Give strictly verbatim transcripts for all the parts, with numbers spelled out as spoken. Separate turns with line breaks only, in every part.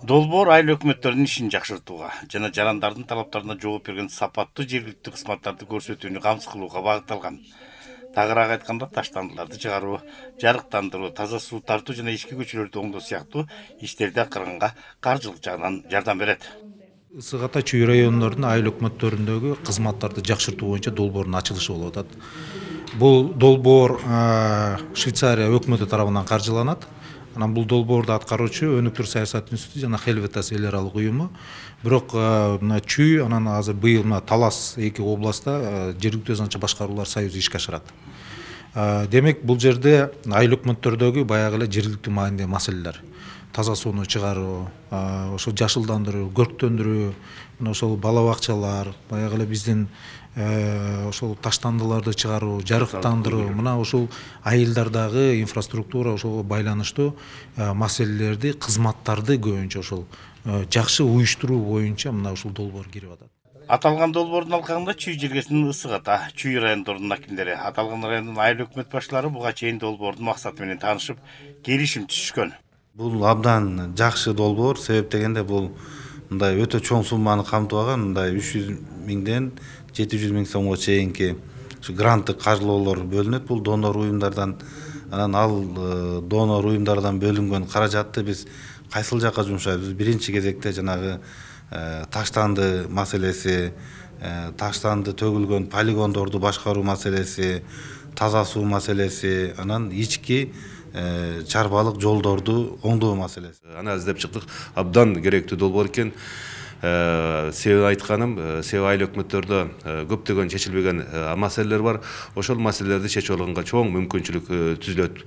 Долбоор айыл өкмөттөрүнүн ишин жакшыртууга жана жарандардын талаптарына жооп берген сапаттуу жергиликтүү кызматтарды көрсөтүүнү камсыз кылууга багытталган. Тагыраак айтканда, таштандыларды чыгаруу, жарыктандыруу, таза суу тартуу жана ички көчөлөрдү оңдоо сыяктуу иштерди аткарганга каржылык жагынан жардам берет.
Ысык Ата Чүй райондорунун айыл өкмөттөрүндөгү кызматтарды жакшыртуу боюнча долбоордун ачылышы болуп атат. Бул долбоор Швейцария өкмөтү тарабынан каржыланат. Анан бул долбоорду аткаруучу Өнүктүрүү саясат институту жана Хелветас эл аралык уюму. Бирок мына Чүй анан азыр быйыл мына Талас эки областта жергиликтүү өз анча башкаруулар союзу ишке ашырат. Демек бул жерде айыл өкмөттөрдөгү баягы эле жергиликтүү маанидеги маселелер. Таза сууну чыгаруу, ошол жашылдандыруу, көрктөндүрүү, мына ошол бала бакчалар, баягы эле биздин ошол таштандыларды чыгаруу, жарыктандыруу, мына ушул айылдардагы инфраструктура ошого байланыштуу маселелерди, кызматтарды көбүнчө ошол жакшы уюштуруу боюнча мына ушул долбоор кирип атат.
Аталган долбоордун алкагында Чүй жергесинин Ысык Ата, Чүй райондорунун акимдери, аталган райондун айыл өкмөт башчылары буга чейин долбоордун максаты менен таанышып, келишим түзүшкөн.
Бул абдан жакшы долбоор, себеп дегенде бул мындай өтө чоң сумманы камтып алган, мындай үч жүз миңден жети жүз миң сомго чейинки гранттык каржылоолор бөлүнөт бул донор уюмдардан. Анан ал донор уюмдардан бөлүнгөн каражатты биз кайсыл жакка жумшайбыз? Биринчи кезекте жанагы таштанды маселеси, таштанды төгүлгөн полигондорду башкаруу маселеси, таза суу маселеси, анан ички чарбалык жолдорду оңдоо маселеси.
Аны издеп чыктык. Абдан керектүү долбоор экен. Себеби айтканым, себеби айыл өкмөттөрдө көптөгөн чечилбеген маселелер бар. Ошол маселелерди чечип алганга чоң мүмкүнчүлүк түзүлөт.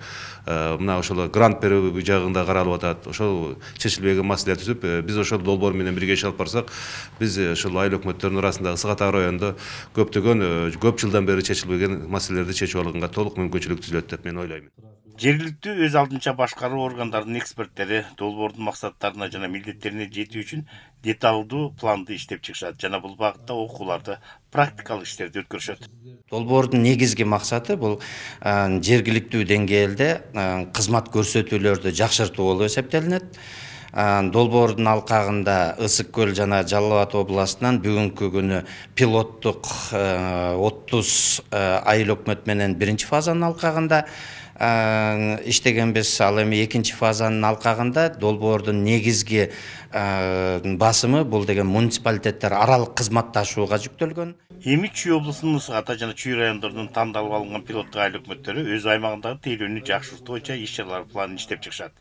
Мына ошол грант берүү жагында каралып атат. Ошол чечилбеген маселе түзүп, биз ошол долбоор менен бирге иш алып барсак, биз ошол айыл өкмөттөрүнүн арасында Ысык Ата районунда көптөгөн көп жылдан бери чечилбеген маселелерди чечип алганга толук мүмкүнчүлүк түзүлөт деп мен ойлойм.
Жергиликтүү өз алдынча башкаруу органдарынын эксперттери долбоордун максаттарына жана милдеттерине жетүү үчүн деталдуу планды иштеп чыгышат жана бул багытта окууларды, практикалык иштерди өткөрүшөт.
Долбоордун негизги максаты бул жергиликтүү деңгээлде кызмат көрсөтүүлөрдү жакшыртуу болуп эсептелинет. Долбоордун алкагында Ысык көл жана Жалал Абад областынан бүгүнкү күнү пилоттук отуз айыл өкмөт менен биринчи фазанын алкагында иштегенбиз. Ал эми экинчи фазанын алкагында долбоордун негизги басымы бул деген муниципалитеттер аралык кызматташууга жүктөлгөн.
Эми Чүй облусунун Ысык Ата жана Чүй райондорунун тандалып алынган пилоттук айыл өкмөттөрү өз аймагындагы тейлөөнү жакшыртуу боюнча иш-чаралар планын иштеп чыгышат.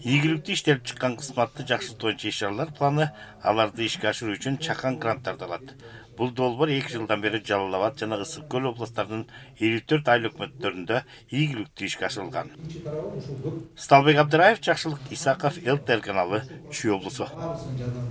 Ийгиликтүү иштелип чыккан кызматты жакшыртуу боюнча иш-чаралар планы аларды ишке ашыруу үчүн чакан гранттарды алат. Бул долбоор эки жылдан бери Жалал Абад жана Ысык көл областтарынын элүү төрт айыл өкмөттөрүндө ийгиликтүү ишке ашырылган. Сталбек Абдыраев, Жакшылык Исаков, эл тэ эр каналы, Чүй облусу.